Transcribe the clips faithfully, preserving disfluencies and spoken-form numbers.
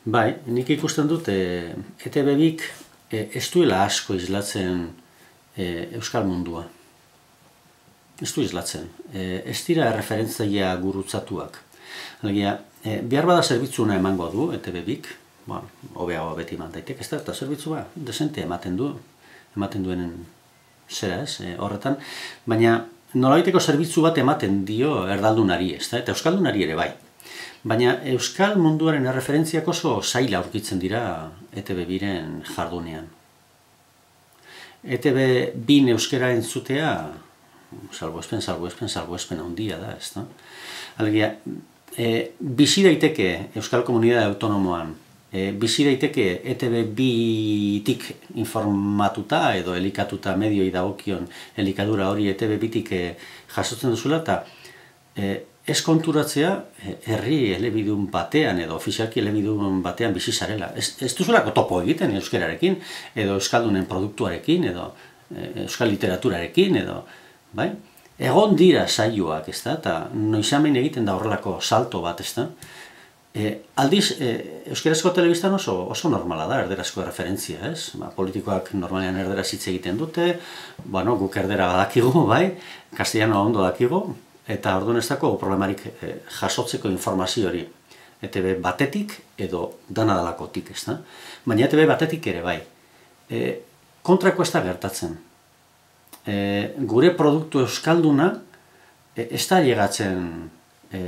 Bai, nik ikusten dut e, E T B bik e, ez duela asko islatzen e, euskal mundua. Ez du islatzen. E, ez dira referentzaia gurutzatuak. Alegia, e, behar bada zerbitzuna emango du E T B bik, ba, hobeago beti eman daitek, ez da, eta zerbitzua desente ematen du, ematen duenen zera ez, e, horretan, baina nolabaiteko zerbitzu bat ematen dio erdaldunari, ez da, eta euskaldunari ere bai. Baina euskal munduaren erreferentziak oso zaila aurkitzen dira E T B biren jardunean. E T B bin euskera entzutea, salbuespen, salbuespen, salbuespen handia da, ez da. Alegia, e, bizi daiteke euskal komunitate autonomoan, e, bizi daiteke E T B bitik informatuta edo elikatuta medioi dagokion elikadura hori E T B bitik e, jasotzen duzula, eta e, ez konturatzea herri elebidun batean edo ofizialki elebidun batean bizi zarela. Ez, ez duzulako topo egiten euskerarekin, edo euskaldunen produktuarekin, edo e, euskal literaturarekin, edo, bai? Egon dira saioak, ez da, eta noizamen egiten da horrelako salto bat, ez da. E, aldiz, e, euskerazko telebistan oso, oso normala da, erderazko referentzia, ez? Ba, politikoak normalean erderaz hitz egiten dute, bueno, guk erdera badakigu, bai, castellano ondo dakigu, eta orduan ez dago problemarik e, jasotzeko informazio hori E T B batetik edo dana dalakotik, ez da? Baina E T B batetik ere bai. E, kontrako ez da gertatzen. E, gure produktu euskalduna e, ez da llegatzen e,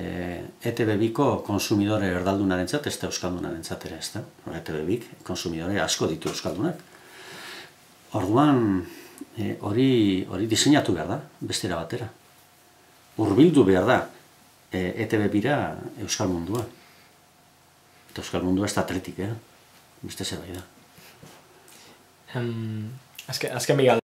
E T B biko konsumidore erdaldunarentzat, ez da euskaldunarentzat ere, ez da? E T B bik konsumidore asko ditu euskaldunak. Orduan hori e, hori diseinatu behar da, bestera batera. Hurbildu behar da E T B bira euskal mundua. Eta euskal mundua ez da atletik, eh? Beste zerbait da. Um, azken, azken bigal.